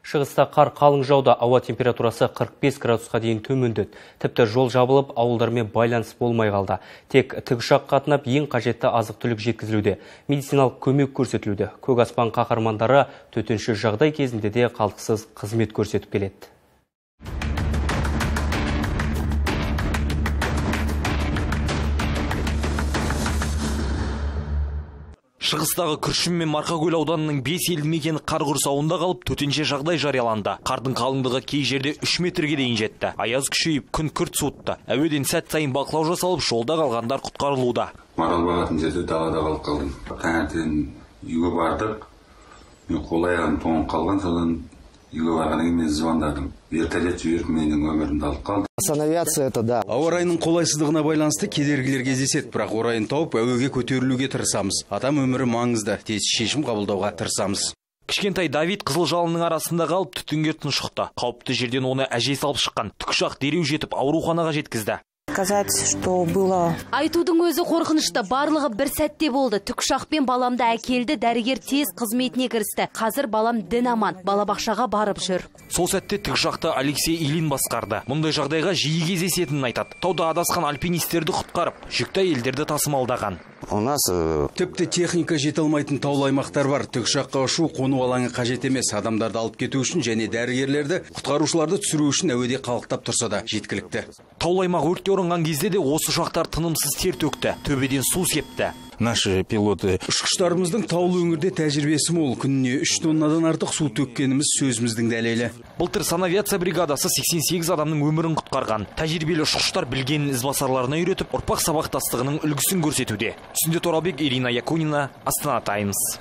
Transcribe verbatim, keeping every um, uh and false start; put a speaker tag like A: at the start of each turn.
A: Шығыста қар қалың жауда, ауа температурасы қырық бес градусқа дейін төмендеді. Тіпті жол жабылып, ауылдармен байланыс болмай қалды. Тек тікұшақ қатынап, ең қажетті азық-түлік жеткізілуде. Медициналық көмек көрсетілуде. Көк аспан қаһармандары төтенше жағдай кезінде де қалтқысыз қызмет көрсетіп келеді.
B: Шығыстағы Күршім мен Марқакөл ауданының бес елді мекені қар құрсауында қалып, төтенше жағдай жарияланды. Қардың қалыңдығы кей жерде үш метрге дейін жетті. Аяз күшейіп, күн күрт суытты. Әуеден сәт сайын бақылау жасалып, жолда қалғандар құтқарылуда.
C: Марал бағатын жерде далада қалып қалдым. Таңертең үйге бардық. Мен қол аяғым тоңып қалған, содан үйге барғаннан кейін мен звондадым. Вертолет жіберіп, менің өмірімді алып қалды.
D: Авиация это да.
E: Ауа райының қолайсыздығына байланысты кедергілер кездеседі, бірақ орайын тауып әуеге көтерілуге тырысамыз. Адам өмірі маңызды, тез шешім қабылдауға тырысамыз.
B: Кішкентай Давид қызыл жалынның арасында қалып түтінге тұншықты. Қауіпті жерден оны әжесі алып шыққан. Тікұшақ дереу жетіп ауруханаға жеткізді.
F: Сказать, что было...
G: Айтудың өзі қорқынышты, барлығы бір сәтте болды. Тікұшақпен баламды әкелді, дәрігер тез қызметіне кірісті. Қазір балам дін аман, балабақшаға барып жүр.
B: Сол сәтте тікұшақты Алексей Илин басқарды. Мұндай жағдайға жиі кездесетінін айтады. Тауда адасқан альпинистерді құтқарып, жүкті әйелдерді тасымалдаған.
D: У нас
E: тіпті техника жете алмайтын таулы аймақтар бар. Тікұшаққа ұшу, қону алаңы қажет емес. Адамдарды алып кету үшін және дәрігерлерді, құтқарушыларды түсіру үшін әуеде қалықтап тұрса да жеткілікті.
B: Таулы аймақ өртке оранған кезде де осы ұшақтар тынымсыз тер төкті, төбеден су септі.
E: Наши пилоты ұшқыштарымыздың таулы өңірде тәжірибесі мол, күніне үш тоннадан артық су төккеніміз сөзіміздің дәлелі.
B: Былтыр санавиация бригадасы сексен сегіз адамның өмірін құтқарған. Тәжірибелі ұшқыштар білгенін ізбасарларына үйретіп, ұрпақ сабақтастығының үлгісін көрсетуде. Түсінде Торабек, Ирина Якунина, Астана Таймс.